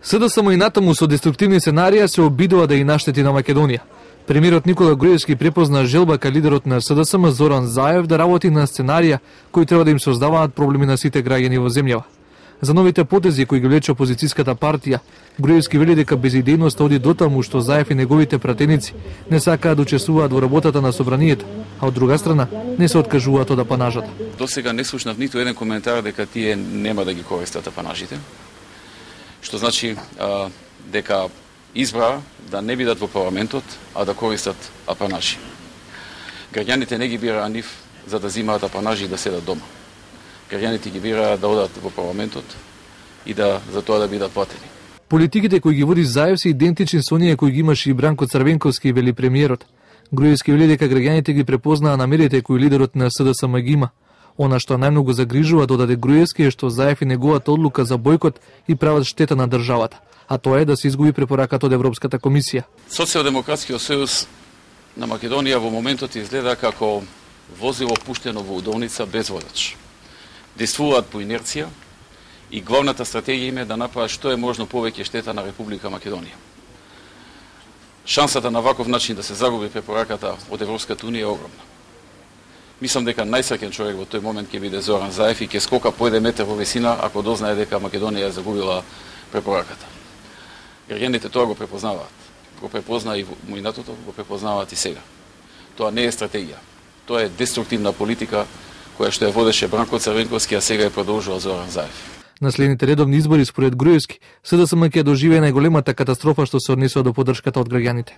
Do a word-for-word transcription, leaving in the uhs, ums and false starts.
СДСМ и натаму со деструктивни сценарија се обидува да и наштети на Македонија. Премиерот Никола Груевски препозна желба ка лидерот на СДСМ Зоран Заев да работи на сценарија кои треба да им создаваат проблеми на сите граѓани во земјава. За новите потези кои ги влече опозицијската партија, Груевски вели дека безидејноста оди дотаму што Заев и неговите пратеници не сакаат да учествуваат во работата на собранието, а од друга страна не се откажуваат од апанажата. До сега не слушнав ниту еден коментар дека тие нема да ги користат апанажите, што значи а, дека избра да не бидат во парламентот, а да користат апанажи. Граѓаните не ги бираа нив за да зимаат апанажи и да седат дома. Граѓаните ги бираа да одат во парламентот и да за тоа да бидат платени. Политиките кои ги води Заев се идентични со оние кои ги имаше и Бранко Црвенковски, вели премиерот. Груевски вели дека граѓаните ги препознаа намерите кои лидерот на СДСМ ги има. Она што најмногу загрижува, додаде Груевски, е што Заев и неговата одлука за бојкот и прават штета на државата, а тоа е да се изгуби препораката од Европската комисија. Социјалдемократскиот сојуз на Македонија во моментот изгледа како возило пуштено во удолница без водач. Действуваат по инерција и главната стратегија им е да направат што е можно повеќе штета на Република Македонија. Шансата на ваков начин да се загуби препораката од Европската унија е огромна. Мислам дека најсреќен човек во тој момент ќе биде Зоран Заев и ќе скока по еден метар во висина ако дознае дека Македонија е загубила препораката. Граѓаните тоа го препознаваат. Го препозна и во минатото, го препознаваат и сега. Тоа не е стратегија. Тоа е деструктивна политика која што ја водеше Бранко Црвенковски, а сега ја продолжува Зоран Заев. На следните редовни избори според Груевски, СДСМ ќе доживее најголемата катастрофа што се однесува до поддршката од граѓаните.